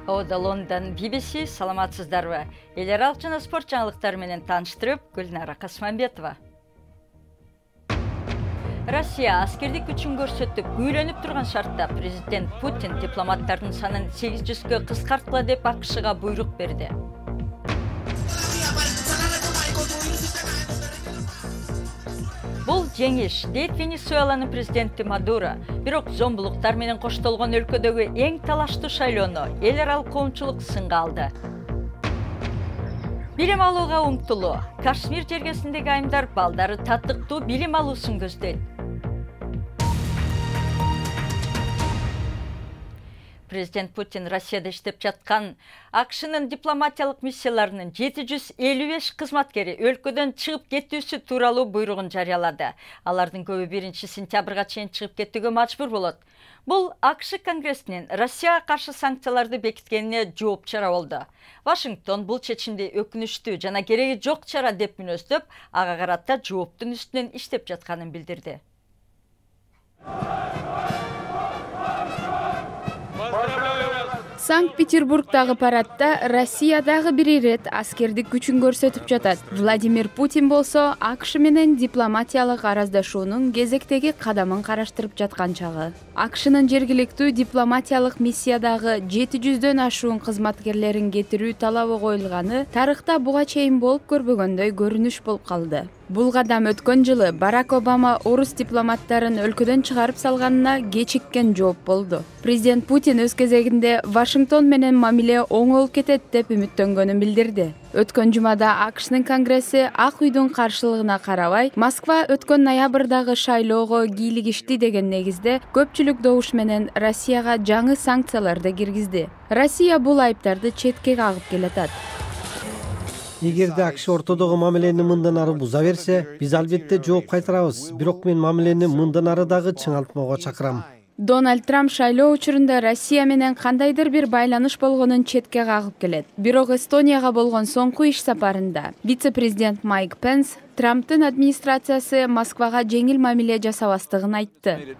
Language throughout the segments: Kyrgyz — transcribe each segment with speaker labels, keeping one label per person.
Speaker 1: Ода Лондон BBC, саламатсыздарбы? Эл аралык жана спорт жаңылыктары менен тааныштырып, Гүлнара Касманбетова. Россия аскердик күчүн көрсөтүп, күйрөнүп турган шартта президент Путин дипломаттардын санын 800гө кыскарткыла деп АКШга буйрук берди. Бул жеңиш, дейт Венесуэланын президенти Мадуро. Бирок зомбулуктар менен коштолгон өлкөдөгү эң талаштуу шайлоону эл аралык коомчулук сынга алды. Билим алууга умтулуу. Кашмир жергесиндеги айымдар балдары татыктуу билим алуусун көздөйт. Президент Путин Россияда иштеп жаткан АКШнын дипломатиялык миссияларынын 755 кызматкери өлкөдөн чыгып кетүүсү тууралуу буйругун жарыялады. Алардын көбү 1-сентябрга чейин чыгып кетүүгө мажбур болот. Бул АКШ Конгрессинин Россияга каршы санкцияларды бекиткенине жооп чара болду. Вашингтон бул чечимди өкүнүчтүү жана кереги жок чара деп мүнөздөп, ага карата жооптун үстүнөн иштеп жатканын билдирди.
Speaker 2: Санкт-Петербургдагы парадда Россия дагы бир ирет аскердик күчүн көрсөтүп жатат. Владимир Путин болсо АКШ менен дипломатиялык араздашуунун кезектеги кадамын караштырып жаткан чагы. АКШнын жергиликтүү дипломатиялык миссиядагы 700дөн ашуун кызматкерлерин кетирүү талабы коюлганы тарыхта буга чейин болуп көрбөгөндөй көрүнүш болуп калды. Бул кадам өткөн жылы Барак Обама орус дипломаттарын өлкөдөн чыгарып салганына кечиккен жооп болду. Президент Путин өз кезегинде Вашингтон менен мамиле оң болуп кетет деп үмүттөнгөнүн билдирди. Өткөн жумада АКШнын Конгресси Ак үйдүн каршылыгына карабай, Москва өткөн ноябрдагы шайлоого кийлигишти деген негизде көпчүлүк добуш менен Россияга жаңы санкцияларды киргизди. Россия бул айыптарды четке кагып келатат.
Speaker 3: Эгерде АКШ ортодогу мамилени мындан ары буза берсе, биз албетте жооп кайтарабыз. Бирок мен мамилени мындан ары дагы чыңалтмоого чакырам.
Speaker 2: Дональд Трамп шайлоо учурунда Россия менен кандайдыр бир байланыш болгонун четке кагып келет. Бирок Эстонияга болгон соңку иш сапарында вице-президент Майк Пенс Трамптын администрациясы Москвага жеңил мамиле жасабастыгын айтты.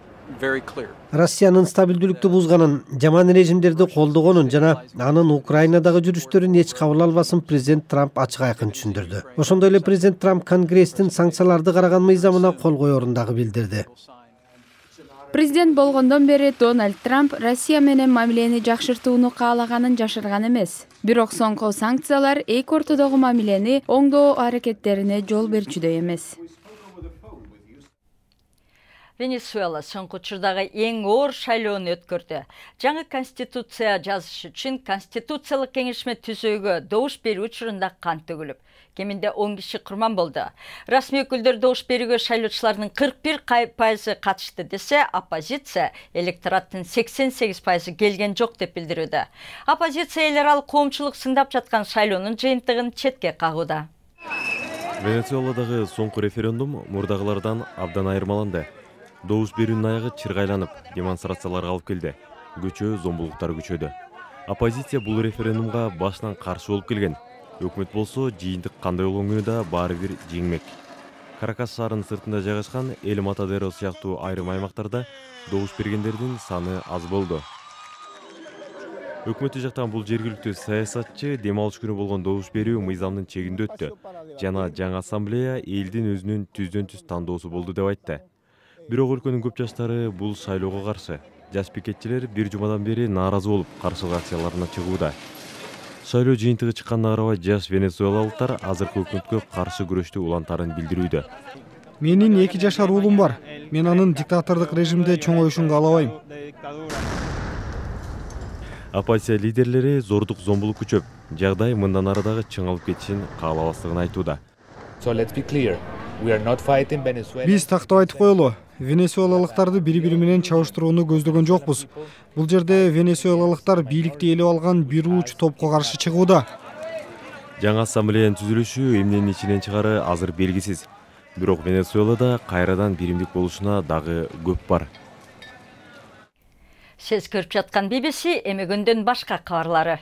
Speaker 3: Россиянын стабилдүүлүктү бузганын, жаман режимдерди колдогонун жана анын Украинадагы жүрүштөрүн эч кабыл албасын президент Трамп ачык айкын түшүндүрдү. Ошондой эле президент Трамп Конгресстин санкцияларды караган мыйзамына кол коерун дагы билдирди.
Speaker 2: Президент болгондон бери Дональд Трамп Россия менен мамилени жакшыртууну каалаганын жашырган эмес. Бирок соңку санкциялар эки ортодогу мамилени оңдоо аракеттерине жол берчүдөй эмес.
Speaker 1: Венесуэла соңку учурдагы эң оор шайлоону өткөрдү. Жаңы конституция жазыш үчүн конституциялык кеңешме түзүүгө добуш берүү учурунда кан төгүлүп, кеминде 10 киши курман болду. Расмий өкүлдөр добуш берүүгө шайлоочулардын 41% катышты десе, оппозиция электораттын 88% келген жок деп билдирүүдө. Оппозиция эл аралык коомчулук сындап жаткан шайлоонун жыйынтыгын четке кагууда.
Speaker 4: Венесуэладагы соңку референдум мурдагылардан абдан айырмаланды. Добуш берүүнүн аягы чыргайланып, демонстрацияларга алып келди. Көчө зомбулуктар күчөдү. Оппозиция бул референдумга башынан каршы болуп келген. Өкмөт болсо жыйынтык кандай болгону да баары бир жеңмек. Каракас шаарынын сыртында жайгашкан Эль Матадеро сыяктуу айрым аймактарда добуш бергендердин саны аз болду. Өкмөттү жактан бул жергиликтүү саясатчы дем алыш күнү болгон добуш берүү мыйзамдын чегинде өттү жана жаңы ассамблея элдин өзүнүн түздөн-түз тандоосу болду деп айтты. Бирок өлкөнүн көп жаштары бул шайлоого каршы. Жаш пикетчилер бир жумадан бери нааразы болуп, каршылык акцияларына чыгууда. Шайлоо жыйынтыгы чыкканына карабай, жаш венесуэлалыктар азыркы өкмөткө каршы күрөштү улантарын билдирүүдө.
Speaker 5: Менин 2 жашар уулум бар. Мен анын диктатордук режимде чоңоюшун каалабайм.
Speaker 4: Оппозиция лидерлери зордук зомбулук күчөп, жагдай мындан ары дагы чыңалып кетишин каалабастыгын айтууда.
Speaker 5: Биз тактап айтып коелу, венесуэлалыктарды бири-бири менен чабыштырууну көздөгөн жокпуз. Бул жерде венесуэлалыктар бийликти ээлеп алган бир уч топко каршы чыгууда.
Speaker 4: Жаңы ассамблеянын түзүлүшү эмненин ичинен чыгары азыр белгисиз. Бирок Венесуэлада кайрадан биримдик болушуна дагы көп бар.
Speaker 1: Сиз көрүп жаткан BBC эми күндүн башка кабарлары.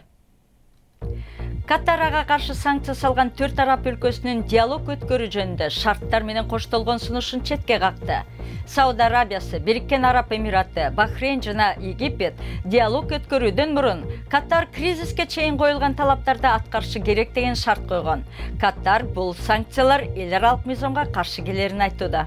Speaker 1: Катарга каршы санкция салган 4 араб өлкөсүнүн диалог өткөрүү жөнүндө шарттар менен коштолгон сунушун четке какты. Сауд Арабиясы, Бириккен Араб Эмираты, Бахрейн жана Египет диалог өткөрүүдөн мурун Катар кризиске чейин коюлган талаптарды аткарышы керек деген шарт койгон. Катар бул санкциялар эл аралык мыйзамга каршы келерин айтууда.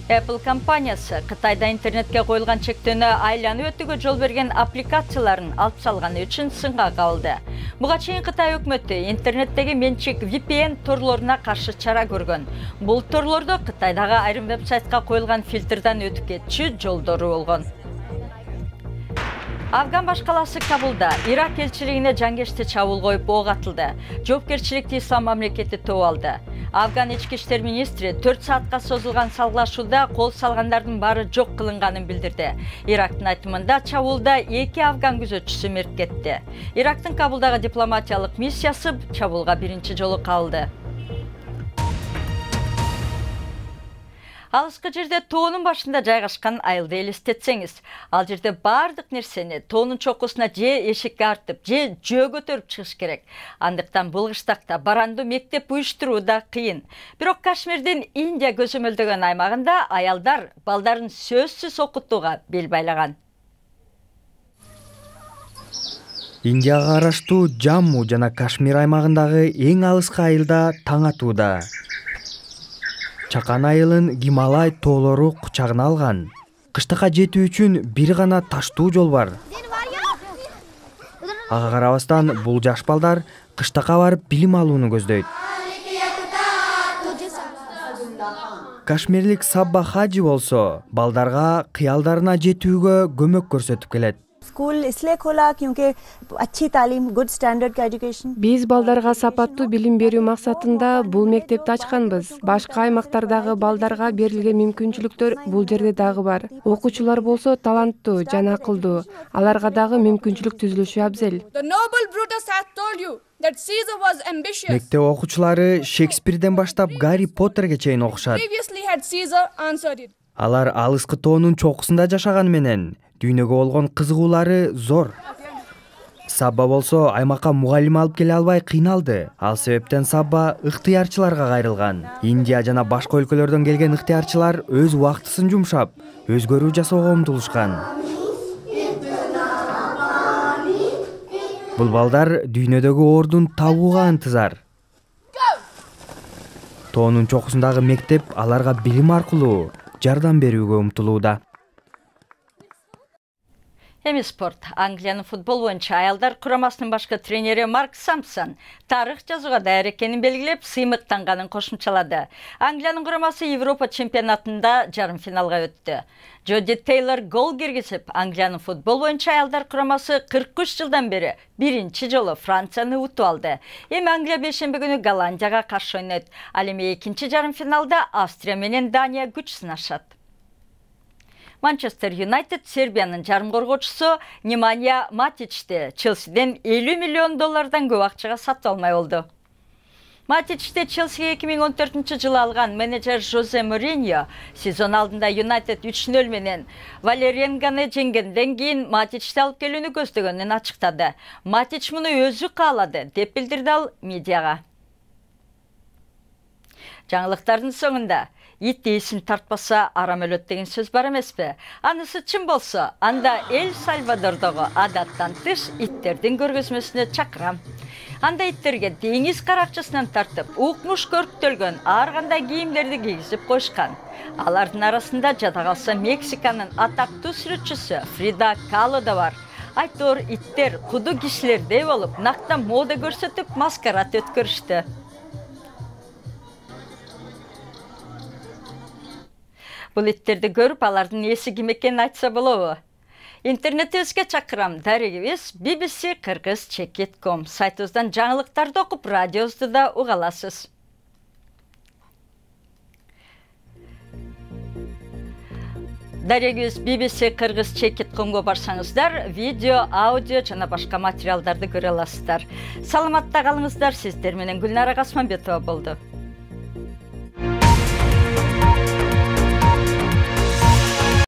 Speaker 1: Apple компаниясы Кытайда интернетке коюлган чектөөнү айланып өтүүгө жол берген аппликацияларын алып салганы үчүн сынга кабылды. Буга чейин Кытай өкмөтү интернеттеги менчик VPN торлоруна каршы чара көргөн. Бул торлордо Кытайдагы айрым вебсайтка коюлган фильтрден өтүп кетчү жолдору болгон. Афган башкаласы Кабулда Ирак элчилигине жангечти чабуул коюп ок атылды. Жоопкерчиликти Ислам мамлекети топ алды. Афган ички иштер министри 4 саатка созулган салгылашууда кол салгандардын баары жок кылынганын билдирди. Ирактын айтымында чабуулда 2 афган күзөтчүсү мерт кетти. Ирактын Кабулдагы дипломатиялык миссиясы чабуулга биринчи жолу кабылды. Алыскы жерде тоонун башында жайгашкан айылды элестетсеңиз, ал жерде бардык нерсени тоонун чокусуна же эшикке артып, же жөө көтөрүп чыгыш керек. Андыктан бул кыштакта баранду мектеп уюштуруу да кыйын. Бирок Кашмирдин Индия көзөмөлдөгөн аймагында аялдар балдарын сөзсүз окутууга бел байлаган.
Speaker 6: Индияга караштуу Джамму жана Кашмир аймагындагы эң алыскы айылда таң атууда. Чакан айылын Гималай тоолору кучагына алган. Кыштыкка жетүү үчүн бир гана таштуу жол бар. Ага карабастан бул жаш балдар кыштыкка барып билим алууну көздөйт. Кашмирлик Сабба Хаджи болсо балдарга кыялдарына жетүүгө көмөк көрсөтүп келет.
Speaker 7: Биз балдарга сапаттуу билим берүү максатында бул мектепти ачканбыз. Башка аймактардагы балдарга берилген мүмкүнчүлүктөр бул жерде дагы бар. Окуучулар болсо таланттуу жана акылдуу. Аларга дагы мүмкүнчүлүк түзүлүшү абзел.
Speaker 6: Мектеп окуучулары Шекспирден баштап Гарри Поттерге чейин окушат. Алар алыскы тоонун чокусунда жашаган менен дүйнөгө болгон кызыгуулары зор. Сабба болсо аймакка мугалим алып келе албай кыйналды. Ал себептен Сабба ыктыярчыларга кайрылган. Индия жана башка өлкөлөрдөн келген ыктыярчылар өз убактысын жумшап, өзгөрүү жасоого умтулушкан. Бул балдар дүйнөдөгү ордун табууга ынтызар. Тоонун чокусундагы мектеп аларга билим аркылуу жардам берүүгө умтулууда.
Speaker 1: Эми спорт. Англиянын футбол боюнча аялдар курамасынын башкы тренери Марк Сампсон тарых жазууга даяр экенин белгилеп, сыймыктанганын кошумчалады. Англиянын курамасы Европа чемпионатында жарым финалга өттү. Джоди Тейлор гол киргизип, Англиянын футбол боюнча аялдар курамасы 43 жылдан бери биринчи жолу Францияны утуп алды. Эми Англия бейшемби күнү Голландияга каршы ойнойт. Ал эми экинчи жарым финалда Австрия менен Дания күч сынашат. Манчестер Юнайтед Сербиянын жарым коргоочусу Немanja Матичти Челсиден $50 миллион көп акчага сатып алмай болду. Матичти Челсиге 2014 жылы алган менеджер Жозе Мориньо сезон алдында Юнайтед 3-0 менен Валеренганы жеңгенден кийин Матичти алып келүүнү көздөгөнүн ачыктады. Матич муну өзү каалады деп билдирди ал медиага. Жаңылыктардын соңунда ит ээсин тартпаса арам өлөт деген сөз бар эмеспи? Анысы чын болсо, анда Эль Сальвадордогу адаттан тыш иттердин көргөзмөсүнө чакырам. Анда иттерге деңиз каракчысынан тартып, укмуш көрктөлгөн ар кандай кийимдерди кийгизип коюшкан. Алардын арасында жада калса Мексиканын атактуу сүрөтчүсү Фрида Кало да бар. Айтор иттер куду кишилердей болуп, накта мода көрсөтүп, маскарад өткөрүштү. Бул иттерди көрүп, алардын ээси ким экенин айтса болобу? Интернетибизге чакырам. Дарегибиз BBC Kyrgyz.com сайтыбыздан жаңылыктарды окуп, радиобузду да уга аласыз. Дарегибиз BBC Kyrgyz.comго барсаңыздар, видео, аудио жана башка материалдарды көрө аласыздар. Саламатта калыңыздар. Сиздер менен Гүлнара Касманбетова болду.